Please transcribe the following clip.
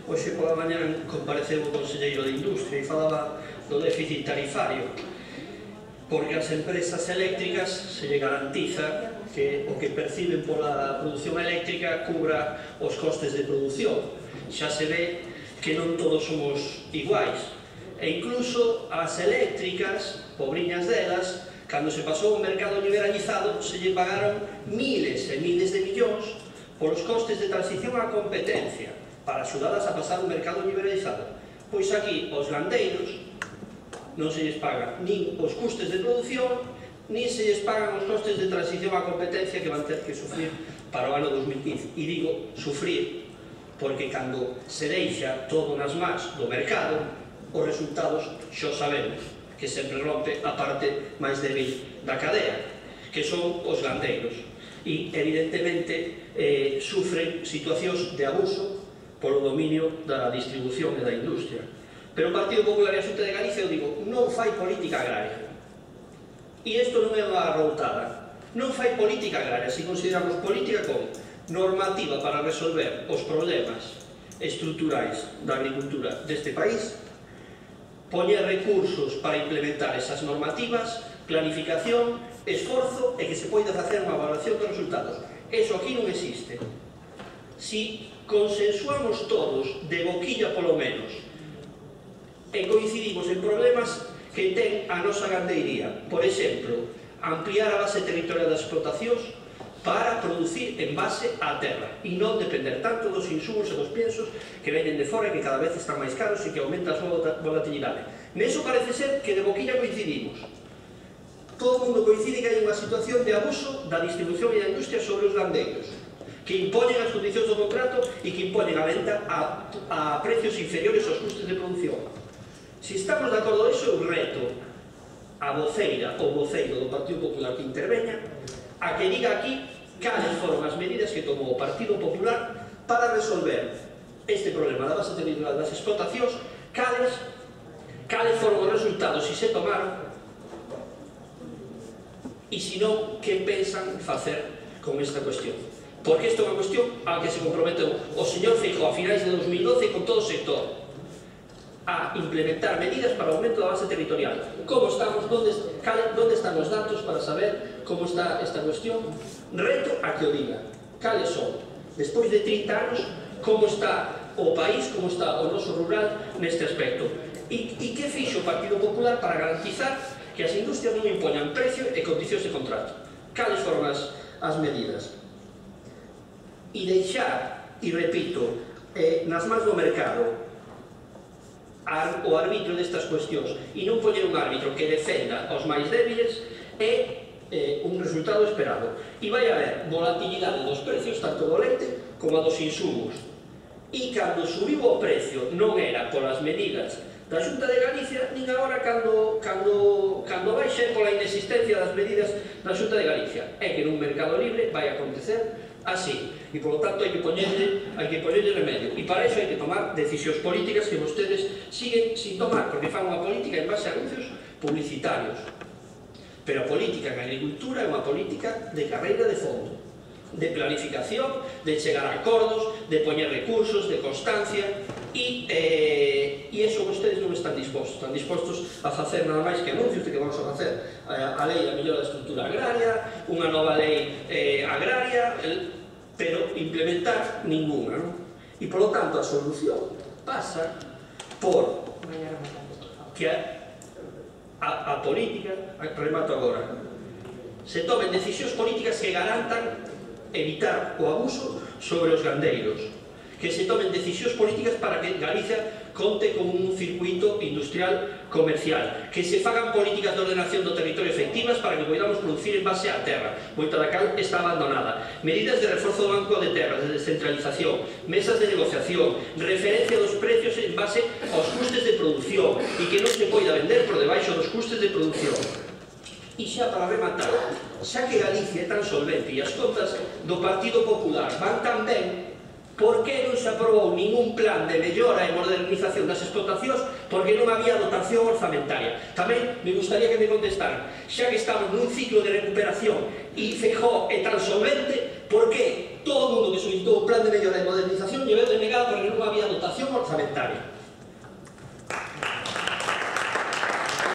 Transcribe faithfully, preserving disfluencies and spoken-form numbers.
Hoxe pola mañá compareceu o conselleiro de Industria e falaba do déficit tarifario, porque as empresas eléctricas se lle garantiza que o que perciben pola produción eléctrica cubra os costes de produción. Xa se ve que non todos somos iguais, e incluso as eléctricas, pobriñas delas, cando se pasou o mercado liberalizado, se lle pagaron miles e miles de millóns polos costes de transición á competencia, para axudadas a pasar o mercado liberalizado. Pois aquí, os gandeiros, non se lles pagan nin os custes de produción, nin se lles pagan os costes de transición á competencia que van ter que sufrir para o ano dos mil quince. E digo sufrir, porque cando se deixa todo nas mans do mercado, os resultados xo sabemos, que sempre rompe a parte máis débil da cadea, que son os gandeiros. E, evidentemente, eh, sufren situacións de abuso polo dominio da distribución e da industria. Pero o Partido Popular e a Xunta de Galicia, eu digo, non fai política agraria. E isto non é unha arroutada. Non fai política agraria, se consideramos política como normativa para resolver os problemas estruturais da agricultura deste país, poñer recursos para implementar esas normativas, planificación, esforzo e que se poida facer unha evaluación dos resultados. Eso aquí non existe. Si consensuamos todos, de boquilla polo menos, e coincidimos en problemas que ten a nosa gandeiría. Por exemplo, ampliar a base territorial das explotacións para producir en base á terra e non depender tanto dos insumos e dos piensos que veñen de fora e que cada vez están máis caros e que aumenta a súa volatilidade. Neso parece ser que de boquilla coincidimos. Todo o mundo coincide que hai unha situación de abuso da distribución e da industria sobre os gandeiros, que impoñen as condicións do contrato e que impoñen a venta a, a precios inferiores aos custes de producción. Se estamos de acordo iso, eu reto a voceira ou voceiro do Partido Popular que interveña a que diga aquí cales foron as medidas que tomou o Partido Popular para resolver este problema da base territorial das explotacións, cales, cales foron os resultados se se tomaron e se non, que pensan facer con esta cuestión. Porque isto é unha cuestión a que se comprometeu o señor Feijóo a finais de dos mil doce con todo o sector a implementar medidas para o aumento da base territorial. Como estamos? Donde, donde están os datos para saber como está esta cuestión? Reto a que o diga. Cales son? Despois de trinta anos, como está o país, como está o noso rural neste aspecto? E, e que fixo o Partido Popular para garantizar que as industrias non impoñan precio e condicións de contrato? Cales foron as, as medidas? E deixar, e repito, eh, nas mans do mercado o arbitrio destas cuestións e non poñer un árbitro que defenda os máis débiles é eh, un resultado esperado. E vai haber volatilidade dos precios tanto do leite como a dos insumos. E cando subiu o precio non era polas medidas da Xunta de Galicia, nin agora cando, cando, cando baixe pola inexistencia das medidas da Xunta de Galicia. É que nun mercado libre vai acontecer así, e polo tanto hai que poñerle, hai que poñerle remedio, e para iso hai que tomar decisións políticas que vostedes siguen sin tomar, porque fan unha política en base a anuncios publicitarios. Pero a política en agricultura é unha política de carreira de fondo, de planificación, de chegar a acordos, de poñer recursos, de constancia, e, eh, e iso vostedes non están dispostos, están dispostos a facer nada máis que anuncios de que vamos a facer a, a lei da mellora da estrutura agraria, unha nova lei eh, agraria, el, pero implementar ninguna, non? E, polo tanto, a solución pasa por que a, a, a política, remato agora, se tomen decisións políticas que garantan evitar o abuso sobre os gandeiros, que se tomen decisións políticas para que Galicia conte con un circuito industrial comercial, que se fagan políticas de ordenación do territorio efectivas para que podamos producir en base á terra, moita da cal está abandonada, medidas de reforzo do banco de terras, de descentralización, mesas de negociación, referencia dos precios en base aos custes de produción e que non se poida vender por debaixo dos custes de produción. E xa para rematar, xa que Galicia é tan solvente e as contas do Partido Popular van tan ben, por que non se aprobou ningún plan de mellora e modernización das explotacións? Porque non había dotación orzamentaria. Tamén me gustaría que me contestaran, xa que estamos nun ciclo de recuperación e Feijóo é tan solvente, por que todo o mundo que solicitou o plan de mellora e modernización lle veu denegado porque non había dotación orzamentaria? orzamentaria.